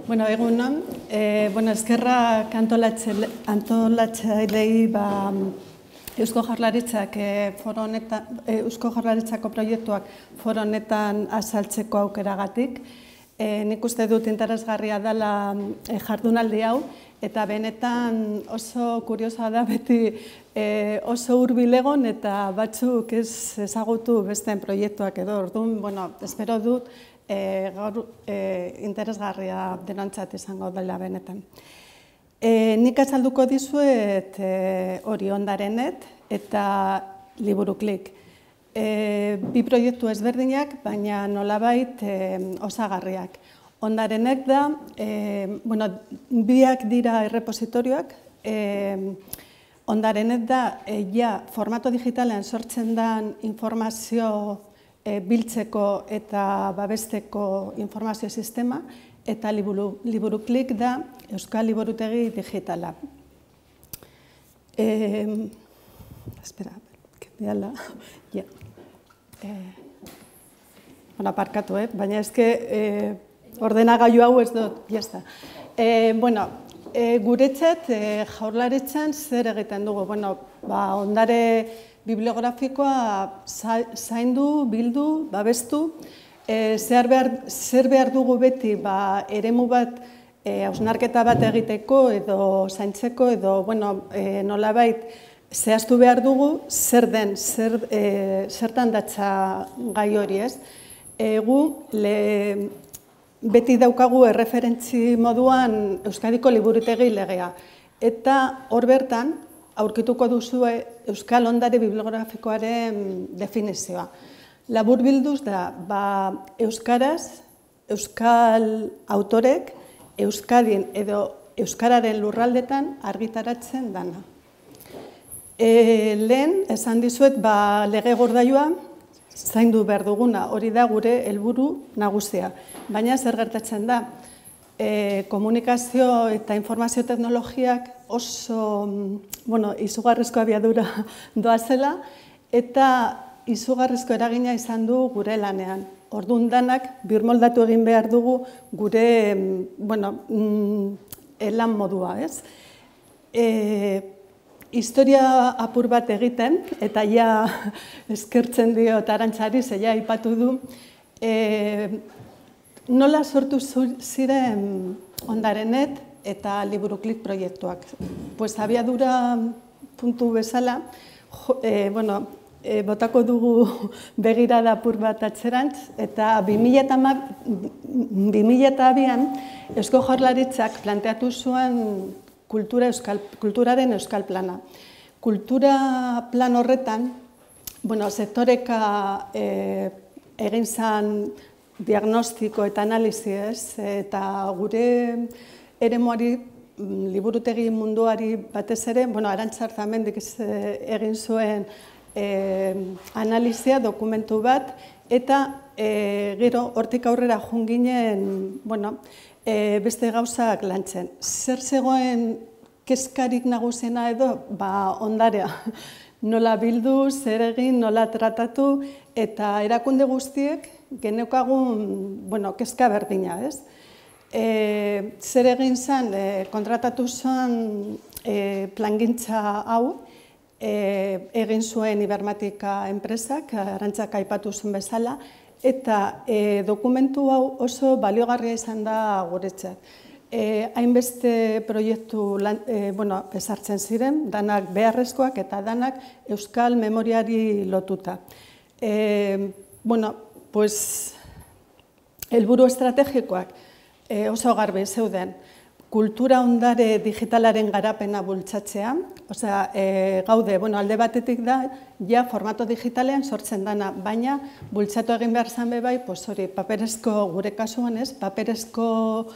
Bueno, egunon, eskerrak antolatzailei Eusko Jaurlaritzak Eusko Jaurlaritzako proiektuak foro honetan azaltzeko aukeragatik. Nik uste dut interesgarria dela jardunaldi hau, eta benetan oso kuriosoa da beti oso hurbil egon eta batzuk ez ezagutu besteen proiektuak edo. Orduan, espero dut gaur interesgarria denontzat izango dela benetan. Nik azalduko dizuet hori Ondarenet eta Liburuklik. Bi proiektu ezberdinak, baina nolabait osagarriak. Ondarenek da, biak dira errepositorioak. Ondarenet da, formato digitalean sortzen den informazio biltzeko eta babesteko informazio sistema, eta Liburuklik da Euskal Liburutegi digitala. Espera, kendiala. Aparkatu, baina ezke ordenagailu hau ez dut, jazta. Guretzat Jaurlaritzan zer egiten dugu? Ondare bibliografikoa zaindu, bildu, babestu. Zer behar dugu beti eremu bat hausnarketa bat egiteko edo zaintzeko edo nolabait zehaztu behar dugu zer den, zertan datza gai hori ez. Gu beti daukagu erreferentzi moduan Euskadiko Liburutegi legea. Eta hor bertan aurkituko duzue Euskal Ondare bibliografikoaren definizioa. Labur bilduz da, euskaraz, euskal autorek, Euskadin edo euskararen lurraldetan argitaratzen dana. Lehen, esan dizuet, lege gordailua zaindu behar duguna, hori da gure helburu nagusia. Baina zer gertatzen da, komunikazio eta informazio teknologiak oso izugarrizko abiadura doazela eta izugarrizko eragina izan du gure lanean. Orduan danak birmoldatu egin behar dugu gure lan modua, ez? Historia apur bat egiten, eta eskertzen diot Arantzari, zeia aipatu du, nola sortu ziren Ondarenet eta Liburuklik proiektuak. Abiadura puntu bezala, botako dugu begirada apur bat atzerantz, eta 2002an Eusko Jaurlaritzak planteatu zuen kulturaren euskal plana. Kultura plan horretan, sektoreka egin zen diagnostiko eta analiziez, eta gure eremuari, liburutegi munduari batez ere, Arantza Arzamendik egin zuen analizia, dokumentu bat, eta gero hortik aurrera joan ginen beste gauzak lantzen. Zer zegoen kezkarik nagusiena edo? Ondarea. Nola bildu, zer egin, nola tratatu, eta erakunde guztiek geneukagun kezka berdina, ez? Zer egin zen, kontratatu zen plangintza hau, egin zuen Ibermatika enpresak, Arantzak aipatu zuen bezala, eta dokumentu hau oso baliogarria izan da guretzat. Hainbeste proiektu ezartzen ziren, danak beharrezkoak eta danak euskal memoriari lotuta. Helburu estrategikoak oso garbi zeuden. Kultura ondare digitalaren garapena bultzatzea, gaude, alde batetik da, formato digitalean sortzen dana, baina bultzatu egin behar zan bebai, paperezko, gure kasuan ez, paperezko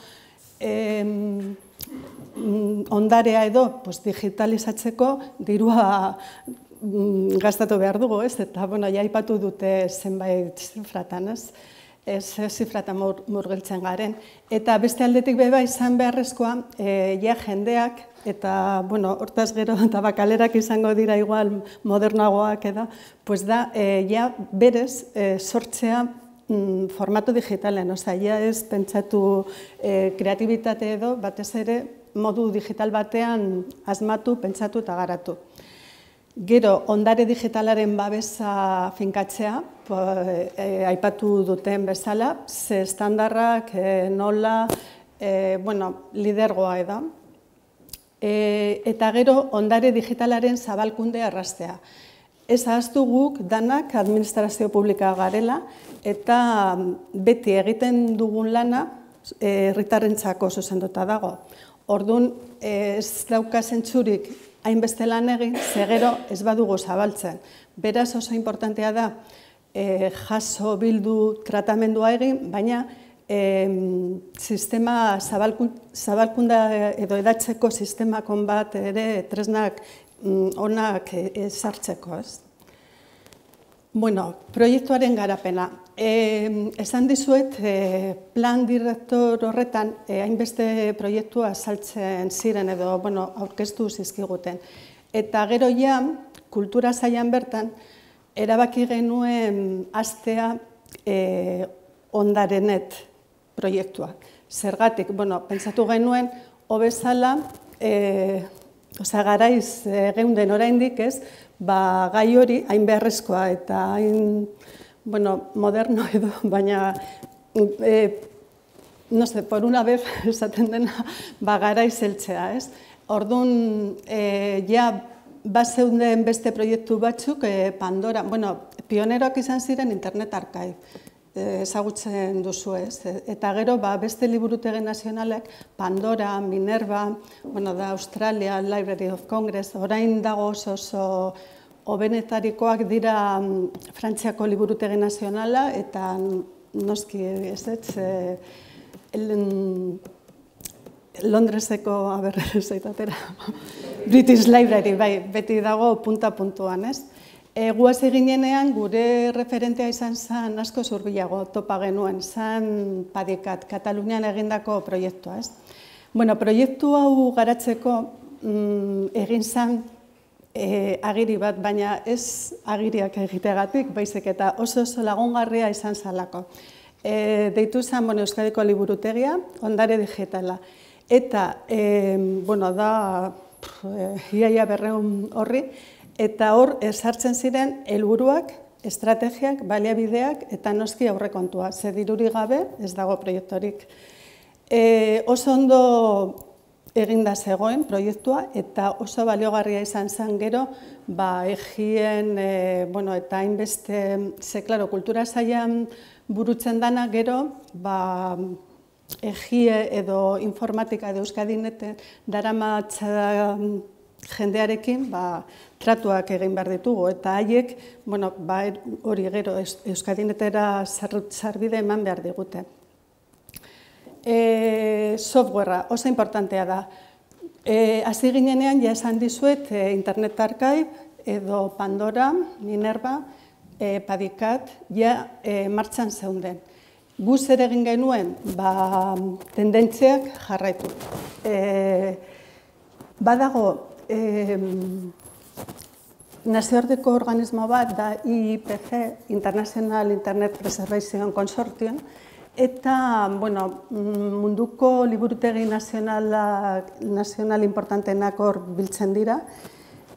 ondarea edo digitalizatzeko dirua gastatu behar dugu, ez? Eta, aipatu dute zenbait zifratan, ez? Ez zifratan murgiltzen garen. Eta beste aldetik beba izan beharrezkoa, jendeak, eta hortaz gero tabakalerak izango dira igual modernagoak edo, da berez sortzea formatu digitalen, ja ez pentsatu kreatibitate edo, batez ere, modu digital batean asmatu, pentsatu eta garatu. Gero, ondare digitalaren babesa finkatzea, aipatu duten bezala, ze estandarrak, nola, lidergoa eda. Eta gero, ondare digitalaren zabalkunde arrastea. Ez ahaztu guk danak administrazio publika garela eta beti egiten dugun lana herritarrentzako zuzenduta dago. Orduan, ez dauka zentzurik hainbeste lan egin, ze gero ez badugu zabaltzen. Beraz oso importantea da jaso bildu tratamendua egin, baina sistema zabalkunda edo edatzeko sistemakon bat ere tresnak onak sartzeko, ez? Proiektuaren garapena. Esan dizuet, plan direktor horretan hainbeste proiektua saltzen ziren edo aurkeztu zizkiguten. Eta gero ja, kultura sailan bertan, erabaki genuen hastea ondarenet proiektua. Zergatik, pentsatu genuen, hobezala, garaiz geunden oraindik ez, gai hori hain beharrezkoa eta hain moderno edo, baina, por una vez esaten dena, garaiz heltzea, ez? Orduan, bazeunden beste proiektu batzuk, Pandora, pioneroak izan ziren Internet Archive, ezagutzen duzu ez. Eta gero, beste liburutegi nazionalek, Pandora, Minerva, da Australia Library of Congress, orain dago oso hobenetarikoak dira Frantziako liburutegi nazionala, eta noski ez, Londreseko, British Library, beti dago punta-puntuan, ez? Guaz eginenean gure referentea izan zen asko zurbilago topa genuen, zen Padikat, Katalunian egindako proiektua, ez? Proiektu hau garatzeko egin zen agiri bat, baina ez agiriak egiteagatik, baizik eta oso lagungarria izan zalako. Deitu zen Euskadiko liburutegia, ondare digitala. Eta, da, iaia 200 horri, eta hor sartzen ziren helburuak, estrategiak, baliabideak eta noski aurrekontua. Ze dirurik gabe ez dago proiektorik. Oso ondo eginda zegoen proiektua eta oso baliogarria izan zen gero, egien eta hainbeste, ze, klaro, kultura sailan burutzen dana gero, egie edo informatika edo Euskadineten daramatza jendearekin tratuak egin behar ditugu, eta haiek hori gero Euskadinetera sarbide eman behar digute. Softwarea oso importantea da. Hasi ginenean, ja esan dizuet, Internet Archive edo Pandora, Minerva, Padikat, ja martxan zeunden. Guz ere egin genuen, tendentziak jarraitu. Badago, nazioarteko organismo bat da IPC, International Internet Preservation Consortium, eta munduko liburutegi nazional importanteenak hor biltzen dira,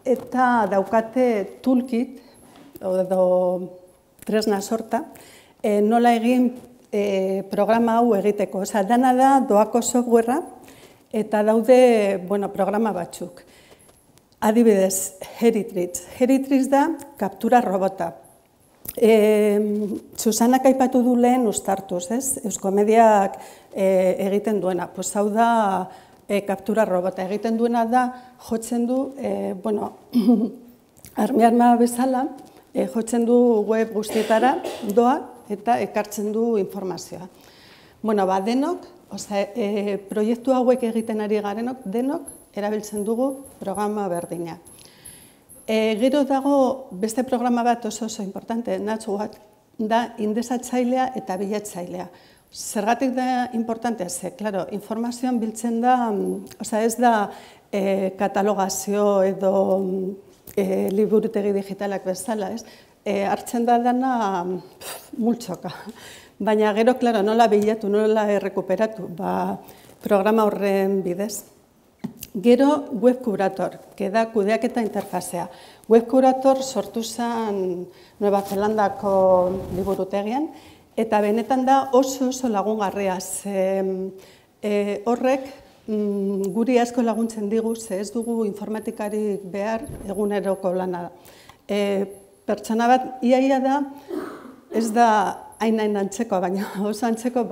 eta daukate toolkit, edo tresna sorta, nola egin programa hau egiteko. Dana da doako softwarea, eta daude programa batzuk. Adibidez, Heritrix. Heritrix da kaptura robota. Susanak aipatu du lehen uztartuz, ez? Euskomediak egiten duena. Hau da kaptura robota. Egiten duena da, jotzen du, arma bezala, jotzen du web guztietara, doa, eta ekartzen du informazioa. Denok, proiektu hauek egiten ari garenok, denok erabiltzen dugu programa berdina. Gero dago beste programa bat oso importante, NatchWatch, da indexatzailea eta bilatzailea. Zergatik da importantea, ze, klaro, informazioan biltzen da, ez da katalogazio edo liburutegi digitalak bezala, ez? Hartzen da dana multzoka. Baina gero, klaro, nola bilatu, nola errekuperatu, programa horren bidez. Gero, Web Curator, da kudeaketa interfazea. Web Curator sortu zen Nueva Zelandako liburutegian, eta benetan da oso lagungarria. Horrek guri asko laguntzen digu, ez dugu informatikarik behar eguneroko lana. Pertsona bat, iaia da, ez da hain antzeko, baina oso antzeko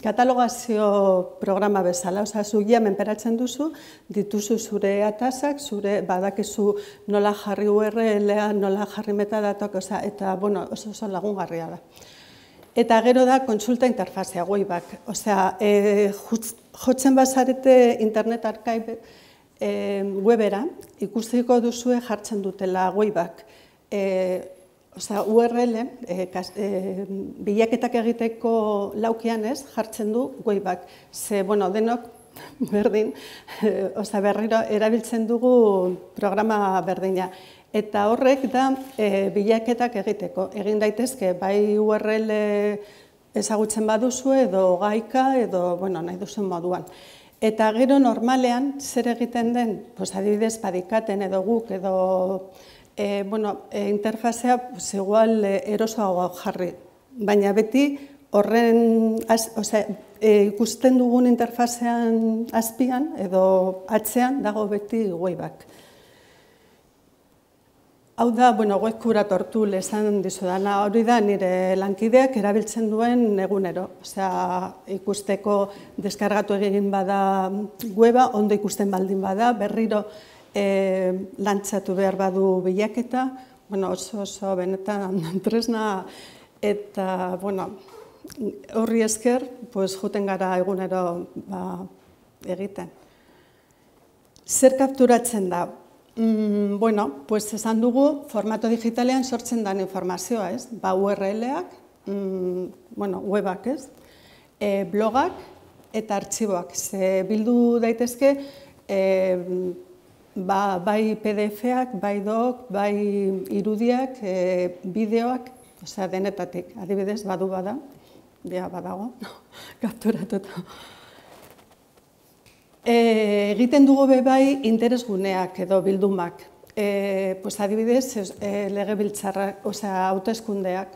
katalogazio programa bezala. Osa, zu menperatzen duzu, dituzu zure atasak, zure badakizu nola jarri URL-a, nola jarri metadatok, eta oso lagungarria da. Eta gero da kontsulta interfazea, Wayback. Osea, jotzen bazarete Internet Archive webera, ikusiko duzue jartzen dutela Wayback. URL, bilaketak egiteko laukian jartzen du Wayback. Ze, denok berdin, berriro erabiltzen dugu programa berdina. Eta horrek da bilaketak egiteko. Egin daitezke, bai URL ezagutzen baduzu edo gaika edo nahi duzun moduan. Eta gero normalean zer egiten den, adibidez badikaten edo guk edo interfazea igual erosoago jarri. Baina beti horren ikusten dugun interfazean azpian edo atzean dago beti Wayback. Hau da, Web Curator tool esan dizudana, hori da nire lankideak erabiltzen duen egunero. Ikusteko deskargatu egin bada weba, ondo ikusten baldin bada, berriro lantzatu behar badu bilaketa, oso benetan tresna, eta horri esker joten gara egunero egiten. Zer kapturatzen da? Esan dugu, formato digitalean sortzen den informazioa, ez? URL-ak, webak, ez? Blogak eta artxiboak. Bildu daitezke, bai PDF-ak, bai doc, bai irudiak, bideoak, denetatik. Adibidez, badago, kapturatuta. Egiten dugu bai interesguneak edo bildumak. Adibidez, legebiltzarrak, hauteskundeak.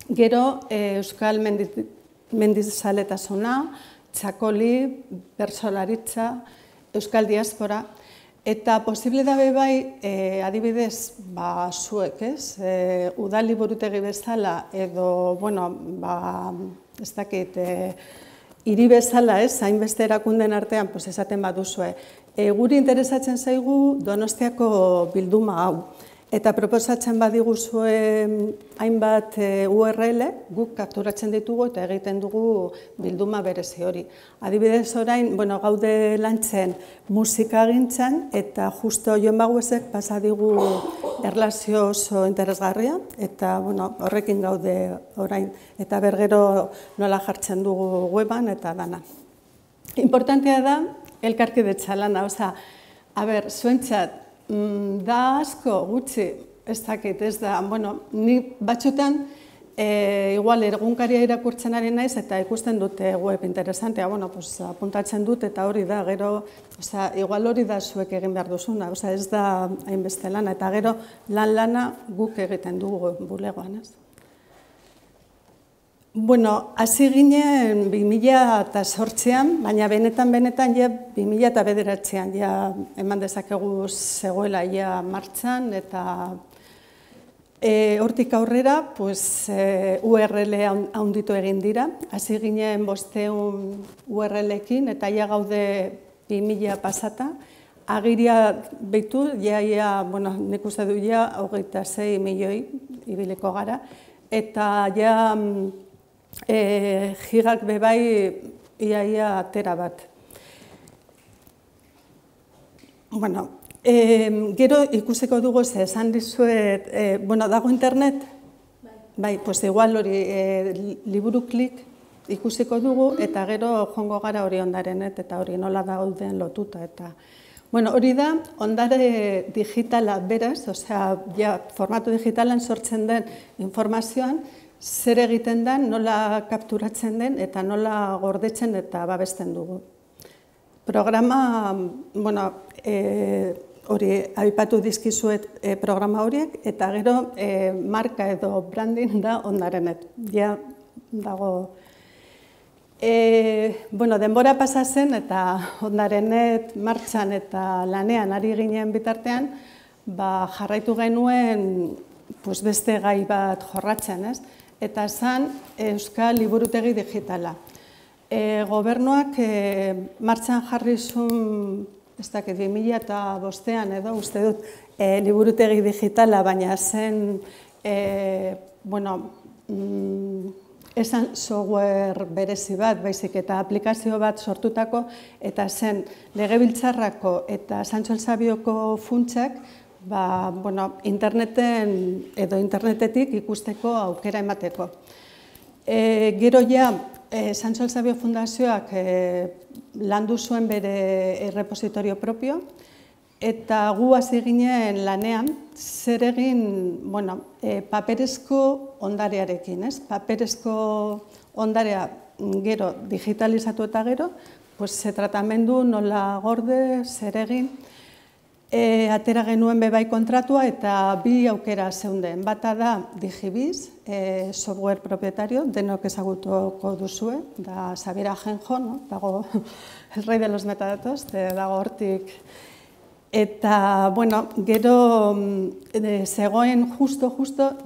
Gero, Euskal Mendizaletasuna, Txakoli, Bertsolaritza, Euskal Diaspora, eta posible da bai, adibidez, zuek, ez? Udal liburutegi bezala edo, ez dakit, hiri bezala, ez? Hainbeste erakunden artean, esaten baduzue. Guri interesatzen zaigu Donostiako bilduma hau. Eta proposatzen badiguzue hainbat URL, guk kapturatzen ditugu eta egiten dugu bilduma berezi hori. Adibidez orain, gaude lantzen musikagintzan eta justo Jon Baguesek pasa digu erlazio oso interesgarria eta horrekin gaude orain eta bergero nola jartzen dugu weban eta dana. Importantea da elkarkidetza lana, zuentzat, da asko gutxi, ez dakit, ez da, ni batzutan igual egunkaria irakurtzen ari naiz eta ikusten dute web interesantea, apuntatzen dut eta hori da, gero, igual hori da zuek egin behar duzuna, ez da hainbeste lana, eta gero lana guk egiten dugu bulegoan, ez? Hasi ginen 2008an, baina benetan 2009an eman dezakegu zegoela martxan, eta hortik aurrera URL handitu egin dira. Hasi ginen 500 URL-ekin, eta gaude 2000 pasata. Agiria behitu, nik uste du 26 milioi ibiliko gara, eta gigak bebai iaia tera bat. Gero ikusiko dugu esan dizuet, dago internet? Bai, igual hori liburu klik ikusiko dugu eta gero jongo gara hori ondarenet eta hori nola dauden lotuta. Hori da ondare digitala beraz, formato digitalan sortzen den informazioan, zer egiten den, nola kapturatzen den eta nola gordetzen eta babesten dugu. Programa, hori aipatu dizkizuet programa horiek, eta gero marka edo branding da Ondarenet. Ja dago. Denbora pasa zen eta Ondarenet martxan eta lanean ari ginen bitartean, jarraitu genuen beste gai bat jorratzen, ez? Eta zen Euskal Liburutegi Digitala. Gobernuak martxan jarri zuen, ez dakit, 2005an edo, uste dut, liburutegi digitala, baina zen, esan software berezi bat, baizik eta aplikazio bat sortutako, eta zen Legebiltzarrako eta Santxo Elsabioko funtsak, interneten edo internetetik ikusteko aukera emateko. Gero ja, Santxo Elsabio Fundazioak landu zuen bere errepositorio propio, eta gu hasi ginen lanean, zer egin, paperezko ondarearekin, ez? Paperezko ondarea gero digitalizatu eta gero, tratamendu nola gorde, zer egin, atera genuen bebai kontratua eta bi aukera zeunden. Bata da Digibiz, software propietario, denok ezagutuko duzue, da Xabier Ajenjo, dago el rey de los metadatos, dago hortik. Eta, gero zegoen justo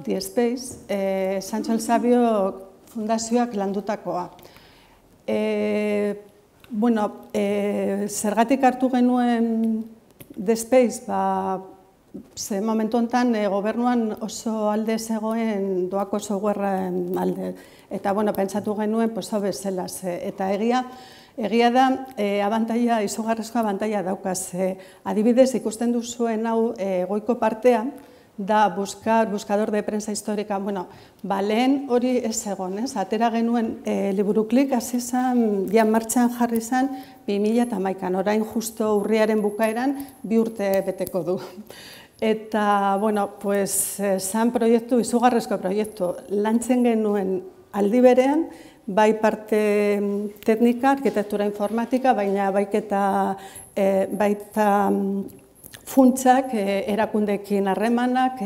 DSpace, Santxo Elsabio Fundazioak landutakoa. Zergatik hartu genuen DSpace, ze momentu honetan gobernuan oso alde zegoen doako softwaren alde. Eta, pentsatu genuen, hobe zela, eta egia da, izugarrizko abantaila daukaz. Adibidez, ikusten duzuen hau goiko partea, da buscador de prensa histórica. Lehen hori ez egon, ez? Atera genuen Liburuklik hasi zen, ja martxan jarri zen 2011an, orain justo urriaren bukaeran 2 urte beteko du. Eta, zan proiektu, izugarrizko proiektu, lantzen genuen aldi berean, bai parte teknika, arkitektura informatika, baina baita funtsak, erakundekin harremanak,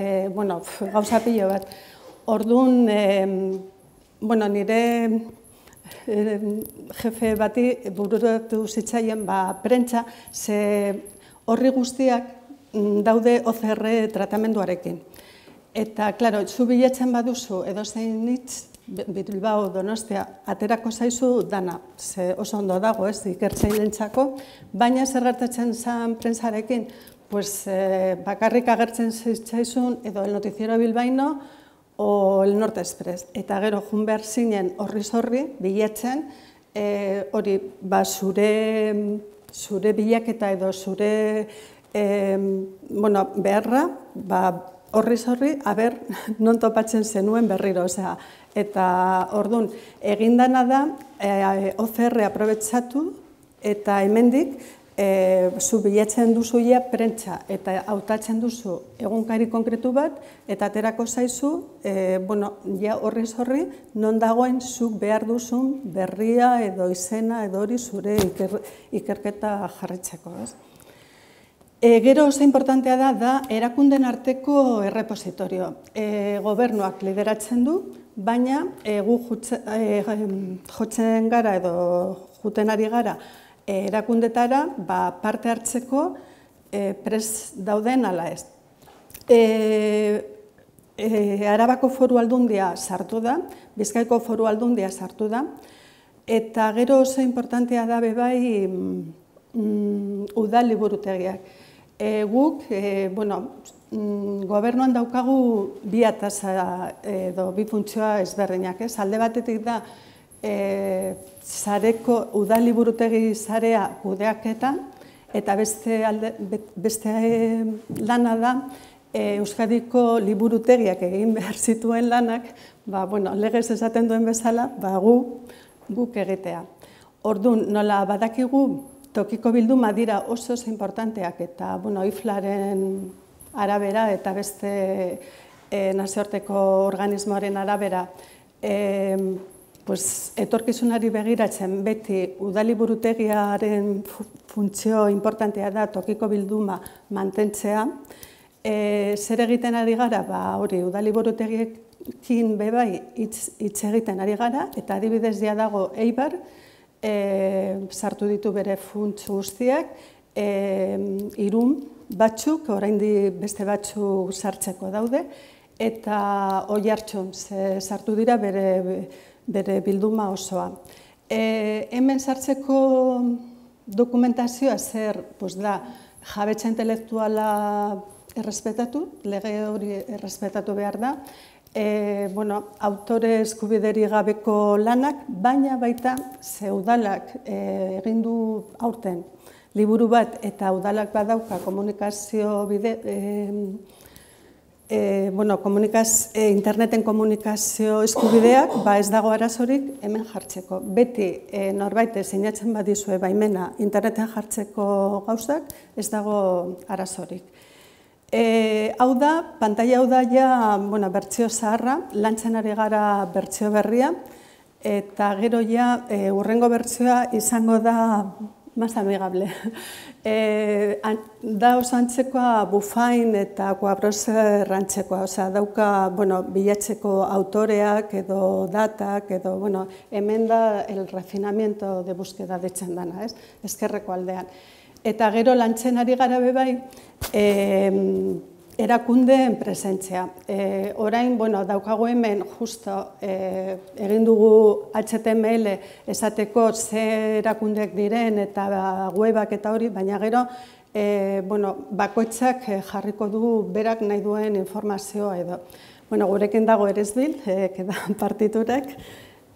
gauza pilo bat. Orduan, nire jefe bati bururatu zitzaien prentsa, ze horri guztiak daude OCR tratamenduarekin. Eta, klaro, zu bilatzen baduzu edozein hitz, Bilbao, Donostia, aterako zaizu dana, ze oso ondo dago, ez, ikertzailentzako, baina zer gertatzen zen prentsarekin, bakarrik agertzen zitzaizun edo el noticiero bilbaino o el Norte Express. Eta gero, jun behar zinen horri bilatzen, hori, zure bilaketa edo zure beharra, horri, aber, non topatzen zenuen berriro, osea, eta orduan, egindana da, OCR aprobetsatu, eta hemendik, zu bilatzen duzu ja prentsa, eta hautatzen duzu egunkari konkretu bat, eta aterako zaizu, ja horri, non dagoen zuk behar duzun berria edo izena edo hori zure ikerketa jarritzeko, ez? Gero oso importantea da erakunden arteko errepositorio. Gobernuak lideratzen du, baina gu jotzen gara edo juten ari gara erakundetara parte hartzeko prest dauden ala ez. Arabako Foru Aldundia sartu da, Bizkaiko Foru Aldundia sartu da, eta gero oso importantea da bebai udal liburutegiak. Guk, gobernuan daukagu bi ataza edo bi funtzioa ezberdinak, ez? Alde batetik da sareko udal liburutegi sarea kudeaketa, eta beste lana da Euskadiko liburutegiak egin behar zituen lanak, legez esaten duen bezala, guk egitea. Orduan, nola badakigu tokiko bilduma dira oso importanteak eta IFLaren arabera eta beste nazioarteko organismoaren arabera etorkizunari begiratzen beti udaliburutegiaren funtzio importantea da tokiko bilduma mantentzea. Zer egiten ari gara? Hori, udaliburutegiekin bebai hitz egiten ari gara, eta adibidez ja dago Eibar, sartu ditu bere funts guztiak, Irun batzuk, oraindik beste batzuk sartzeko daude, eta Oiartzun sartu dira bere bilduma osoa. Hemen sartzeko dokumentazioa zer da jabetza intelektuala errespetatu, lege hori errespetatu behar da, autore eskubideri gabeko lanak, baina baita ze udalak egin du aurten liburu bat eta udalak badauka komunikazio interneten komunikazio eskubideak, ez dago arazorik hemen jartzeko. Beti norbait sinatzen badizue baimena interneten jartzeko gauzak, ez dago arazorik. Hau da, pantaila hau da ja bertsio zaharra, lantzen ari gara bertsio berria, eta gero ja hurrengo bertsioa izango da más amigable. Da oso antzekoa Bufain eta Quabrose rantzekoa, dauka bilatzeko autoreak edo datak, edo hemen da el refinamiento de búsqueda deitzen dana, ezkerreko aldean. Eta gero lantzen ari gara bebai, erakundeen presentzia. Orain, daukago hemen justo egin dugu HTML esateko ze erakundeak diren eta webak eta hori, baina gero bakoitzak jarriko du berak nahi duen informazioa edo. Gurekin dago Eresbil, partiturak,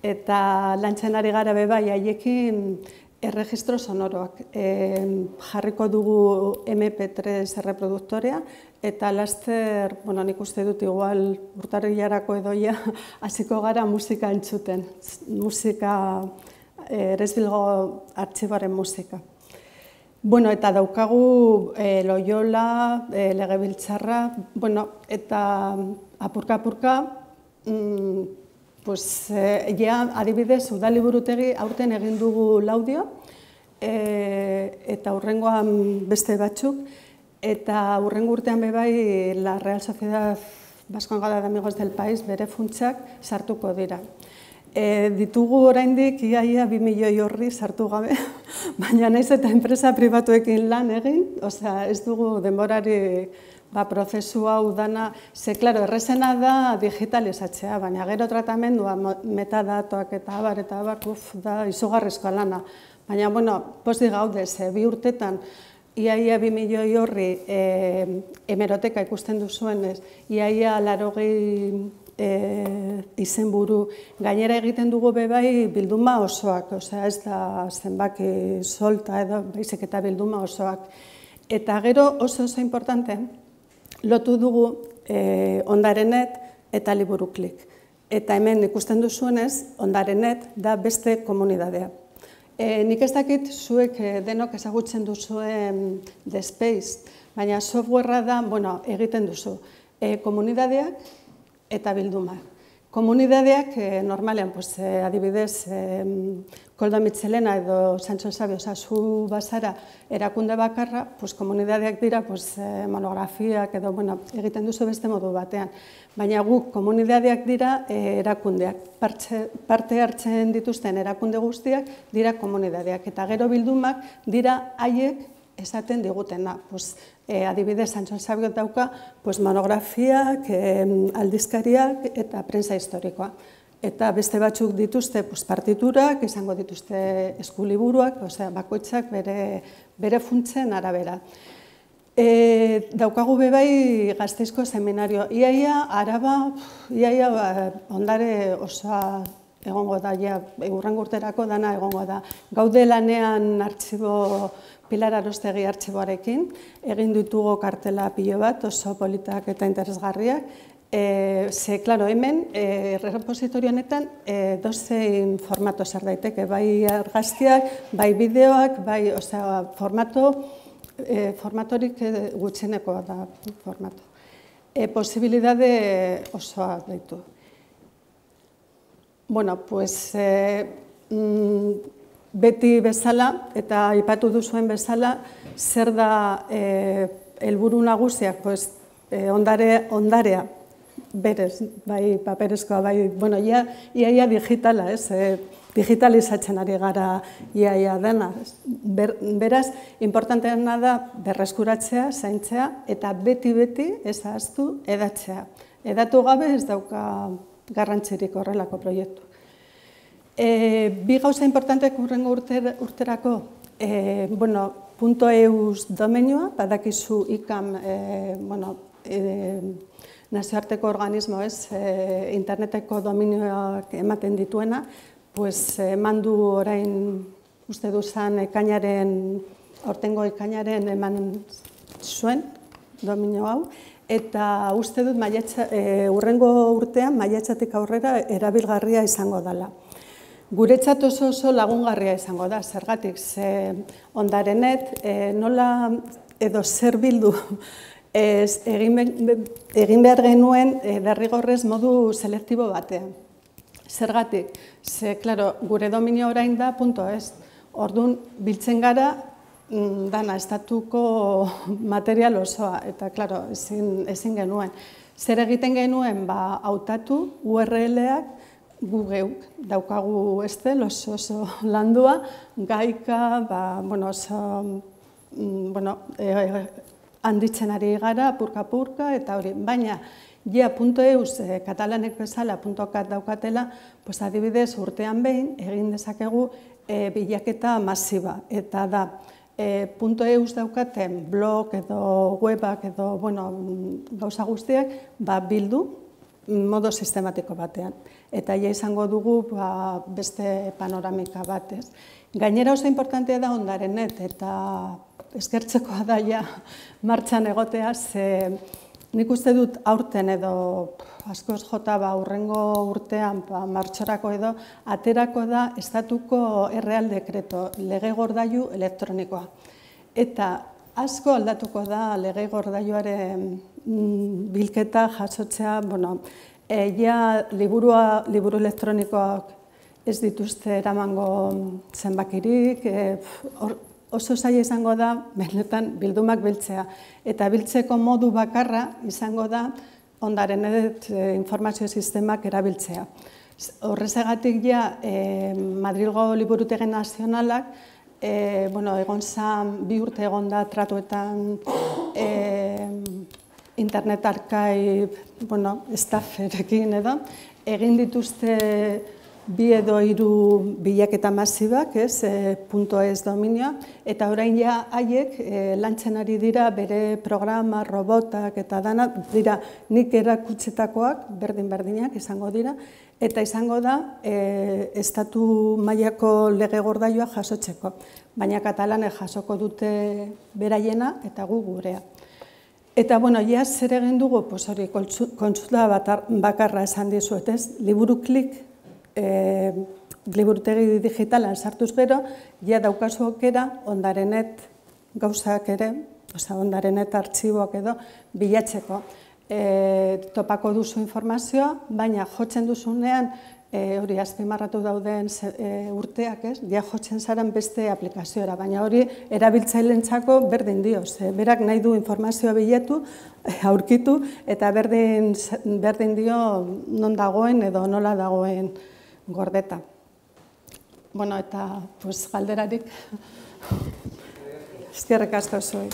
eta lantzen ari gara bebai haiekin erregistro sonoroak. Jarriko dugu MP3 erreproduktorea, eta laster, nik uste dut igual urtarrilarako edoia, hasiko gara musika entzuten. Musika, Eresbilgo artxiboaren musika. Eta daukagu Loyola, Legebiltzarra, eta apurka-apurka, adibidez, udaliburutegi aurten egin dugu laudio, eta hurrengoan beste batzuk, eta hurrengo urtean bebai la Real Sociedad Vascongada de Amigos del País bere funtsak sartuko dira. Ditugu oraindik iaia 2 milioi horri sartu gabe, baina naiz eta enpresa pribatuekin lan egin, ez dugu denborari prozesu hau dana, errezena da digitalizatzea, baina gero tratamendua, metadatoak eta abar, da izugarrizkoa lana. Baina, pozik gaude, 2 urtetan, iaia 2 milioi horri hemeroteka ikusten duzuenez, iaia 80 izenburu, gainera egiten dugu bebai bilduma osoak, ez da zenbaki solta edo baizik eta bilduma osoak. Eta gero oso importante, lotu dugu Ondarenet eta Liburuklik. Eta hemen ikusten duzuenez, Ondarenet da beste komunidadea. Nik ez dakit zuek denok ezagutzen duzuen The Space, baina softwarea da, egiten duzu. Komunidadeak eta bildumak. Komunidadeak normalean, adibidez, Koldo Mitxelena edo Sancho Sabio zu bazara erakunde bakarra, komunidadeak dira monografiak edo egiten duzu beste modu batean. Baina guk komunidadeak dira erakundeak. Parte hartzen dituzten erakunde guztiak dira komunidadeak. Eta gero bildumak dira haiek esaten digutena. Adibidez, Sancho Sabio dauka monografiak, aldizkariak eta prensa historikoa. Eta beste batzuk dituzte partiturak, izango dituzte eskuliburuak, bakoitzak bere funtzen arabera. Daukagu bebai Gasteizko seminario. Iaia, Araba, ondare osoa egongo da, hurrengo urterako dana egongo da. Gaude lanean artxibo, Pilar Arostegi artxiboarekin, egin ditugu kartela pilo bat, oso politak eta interesgarriak. Hemen, errepositorio honetan, dozein formato zer daiteke, bai argazkiak, bai bideoak, bai formatorik gutxenekoa da formato. Posibilidade osoa daitu. Bueno, pues beti bezala eta aipatu duzuen bezala, zer da helburu nagusiak, pues ondarea berez, bai paperezkoa, bai, bueno, iaia digitala, ez? Digitalizatzen ari gara iaia dena. Beraz, importanteena da berreskuratzea, zaintzea, eta beti ez ahaztu edatzea. Edatu gabe ez dauka garrantzirik horrelako proiektu. Bi gauza importanteak hurrengo urterako, .eus domeinua, badakizu ICAM, nazioarteko organismo, interneteko dominioak ematen dituena, mandu orain uste duzan aurtengo ekainaren eman zuen dominio hau, eta uste dut hurrengo urtean maiatzatik aurrera erabilgarria izango dela. Guretzat oso lagungarria izango da, zergatik, Ondarenet nola edo zer bildu egin behar genuen derrigorrez modu selektibo batean. Zergatik, gure dominio orain da .es. Orduan, biltzen gara, dana, estatuko material osoa, eta, ezin genuen. Zer egiten genuen, hautatu URL-ak gu geuk daukagu oso landua, gaika, handitzen ari gara, purka-purka, eta hori, baina, .eus katalanek bezala .cat daukatela, adibidez urtean behin egin dezakegu bilaketa masiba. Eta da, .eus daukaten blog edo webak edo gauza guztiak bildu modo sistematiko batean. Eta izango dugu beste panoramika bat. Gainera oso importantea da Ondarenet, eta eskertzekoa da martxan egotea, nik uste dut aurten edo askoz jota hurrengo urtean martxorako edo aterako da estatuko erreal dekreto, lege gordailu elektronikoa. Eta asko aldatuko da lege gordailuaren bilketa jasotzea, liburu elektronikoak ez dituzte eramango zenbakirik, oso zaila izango da, benetan, bildumak biltzea. Eta biltzeko modu bakarra izango da Ondarenet informazio sistemak erabiltzea. Horrezegatik Madrilgo Liburutegi Nazionalak, egon zan, 2 urte egon da tratuetan internet arkaib, stafferekin edo, egin dituzte 2 edo 3 bilaketa masibak, .es dominioa, eta orain haiek lantzen ari dira bere programa, robotak eta dana, dira nik erakutsetakoak, berdin-berdinak izango dira, eta izango da estatu mailako lege gordailua jasotzeko, baina katalanek jasoko dute beraiena eta gu gurea. Eta, zer egin dugu, kontsulta bakarra esan dizuet, liburu klik, liburutegi digitalan sartuz gero, daukazu aukera Ondarenet gauzak ere, Ondarenet artxiboak edo, bilatzeko. Topako duzu informazioa, baina jotzen duzunean, hori azpimarratu dauden urteak, jotzen zaren beste aplikazioa, baina hori erabiltzaileentzako berdin dio, berak nahi du informazioa bilatu, aurkitu, eta berdin dio non dagoen edo nola dagoen gordeta. Eta galderarik, eskerrik asko zuei.